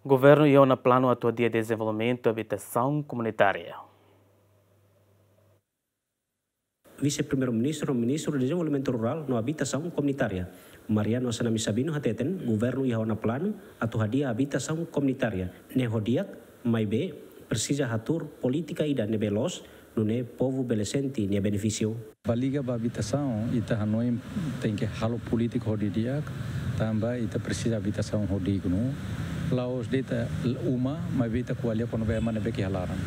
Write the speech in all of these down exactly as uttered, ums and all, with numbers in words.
Governu iha ona planu atu hadi'a dezenvolvimentu abitasaun komunitária. Vise-Primeiru-Ministru, Ministru Dezenvolvimentu Rurál no Abitasaun Komunitária, Mariano Assanami Sabino hateten, governu iha ona planu atu hadi'a abitasaun komunitária ne'e ho di'ak, maibé presiza hatuur polítika ida ne'ebé loos, nune'e povu bele sente nia benefísiu. Ba liga ba abitasaun, ita hanoin tenke halo polítika ho di'ak, tanba ita presiza abitasaun ho dignu. La'ós de'it uma, maibé ita ko'alia kona-ba ema ne'ebé ke iha laran.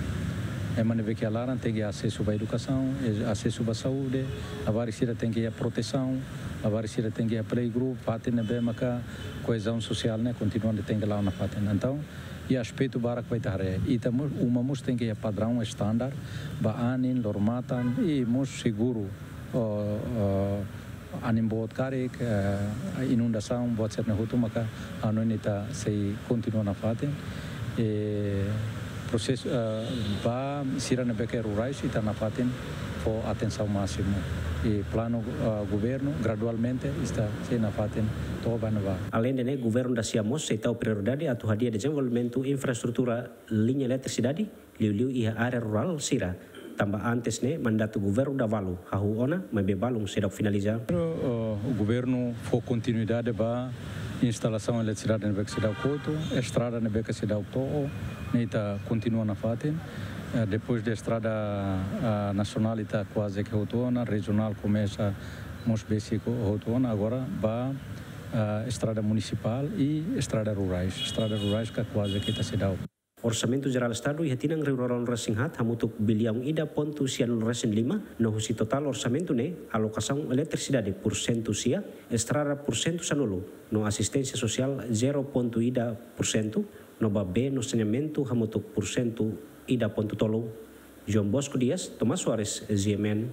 Ema ne'ebé ke iha laran tenke asesu ba edukasaun, e-, asesu ba saúde, labarik sira tenke iha protesaun, labarik sira tenke iha playgroup, fatin ne'ebé maka koezaun sosiál ne'e kontinua tenke la'o nafatin. Entaun, iha aspetu barak ba ita haree. Ita mós, uma mós tenke iha padraun standar ba anin, loro-matan, i mós seguru, o, o, anin boot karik, eh, inundasaun, buat sira-ne'e hotu maka hanoin ita sei kontinua nafatin. E prosesu, eh, ba sira ne'ebé ke rurais ita nafatin fó atensaun másimu. I planu, eh, governu gradualmente ita sei nafatin to'o ba ne'ebá. Aleinde ne'e, governu dasia mós sei tau prioridade atu hadi'a dezenvolvimentu infraestrutura liña eletrisidade, liuliu iha área rurál sira, tanba antes ne'e mandatu governu Davalu hahú ona, maibé balun seidauk finaliza. Pero, eh, governu fó kontinuidade ba instalasaun eletrisidade ne'ebé ke seidauk kotu, estrada ne'ebé ke seidauk to'o, ne'e ita kontinua nafatin. Eh, depois de estrada, ah, nasionál ita kuaze ke hotu ona, rejionál komesa mós besik hotu ona, agora ba, ah, estrada munisipál i estrada rurais. Estrada rurais ka kuaze ke ita seidauk. Orsamentu Jerál Estadu iha tinan rihun rua ruanulu resin haat hamutuk biliaun ida pontu sianulu resin lima, no husi totál orsamentu ne'e, alokasaun eletrisidade pursentu sia, estrada pursentu sanulu, no asisténsia sosiál zero pontu ida pursentu, no ba bee no saneamentu hamutuk pursentu ida pontu tolu. João Bosco Dias, Tomás Soares, G M N.